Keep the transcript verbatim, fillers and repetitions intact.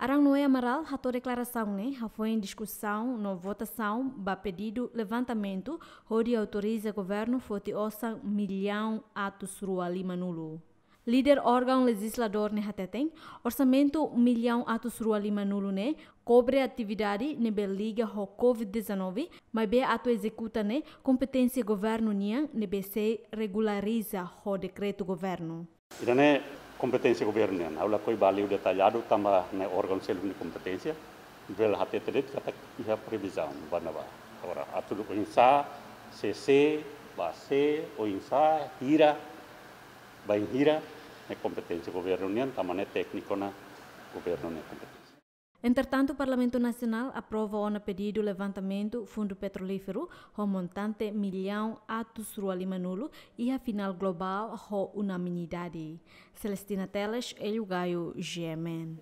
Arão Noé Amaral hato'o deklarasaun ne'e hafoin diskusaun no votasaun ba pedidu levantamentu hodi autoriza governu foti osan millaun atus rua lima-nulu. Líder órgaun lejizladór ne'e hateten, orsamentu millaun atus rua lima-nulu ne'e kobre atividade ne'ebé liga ho covid dezanove, maibé atu ezekuta ne'e kompeténsia governu nian ne'ebé sei regulariza ho dekretu governu. Ida-ne'e kompeténsia governu nian. Ha'u lakohi ba liu detalladu tanba ne'e órgaun seluk nia kompeténsia. Bele hatete de'it katak iha previzaun ba ne'ebá. Agora, atu oinsá, sé sé, ba sé, oinsá, hira, bainhira, ne'e kompeténsia governu nian, tanba ne'e tékniku ona governu nia kompeténsia. Entretantu, Parlamentu Nasionál aprova ona pedidu levantamentu Fundu Petrolíferu ho montante millaun atus rua lima-nulu iha final globál ho unanimidade. Celestina Teles, Hélio Gaio, G M N.